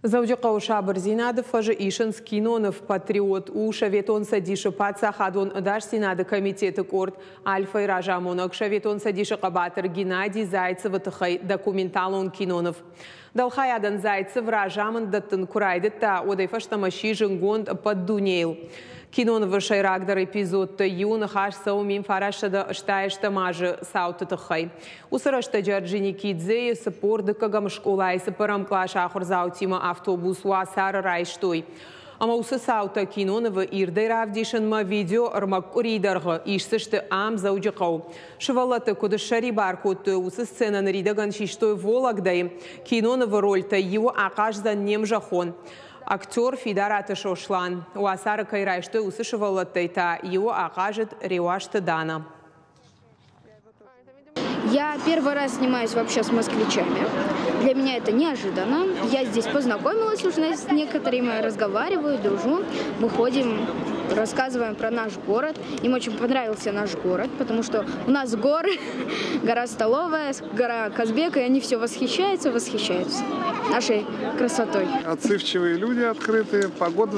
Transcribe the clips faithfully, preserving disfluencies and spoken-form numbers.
Дзӕуджыхъӕуы Сабырдзинады фӕзы исынц киноныв «Патриот». У Советон Цӕдисы паддзахадон ӕдасдзинады комитеты къорд «Альфа-йы» разамонӕг, Советон Цӕдисы хъӕбатыр Геннадий Зайцевы тыххӕй документалон киноныв. Дӕлхайадӕн Зайцев разамынд дӕттын куы райдыдта, уӕдӕй фӕстӕмӕ сси зындгонд ӕппӕт дунейыл. Кинонывы сӕйрагдӕр эпизодтӕй иуы ныхас цӕуы мин фарастсӕдӕ ӕстай ӕстӕм азы цауты тыххӕй. Уыцы рӕстӕджы Орджоникидзейы цыппор дыккӕгӕм скъолайы цыппӕрӕм къласы ахуырдзаутимӕ автобус уацары райстой. Ӕмӕ уыцы цаутӕ кинонывы ирдӕй равдисынмӕ видео ӕрмӕг къуырийы дӕргъы исдзысты ам, Дзӕуджыхъӕуы. Сывӕллӕтты куыд ссӕрибар кодтой, уыцы сценӕ ныридӕгӕн систой Вологдӕйы. Кинонывы рольтӕй иуы ахъаздзӕн не мзӕххон актер Фидараты Сослан. Уацары кӕй райстой, уыцы сывӕллӕттӕй та иуы ахъазыд Реуазты Дана. Я первый раз снимаюсь вообще с москвичами. Для меня это неожиданно. Я здесь познакомилась уже с некоторыми, разговариваю, дружу. Мы ходим, рассказываем про наш город. Им очень понравился наш город, потому что у нас горы, гора Столовая, гора Казбек, и они все восхищаются, восхищаются нашей красотой. Отзывчивые люди, открытые, погода.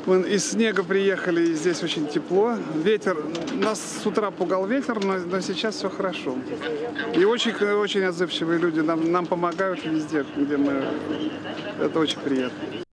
Мы из снега приехали, и здесь очень тепло. Ветер, нас с утра пугал ветер, но, но сейчас все хорошо. И очень, очень отзывчивые люди нам, нам помогают везде, где мы. Это очень приятно.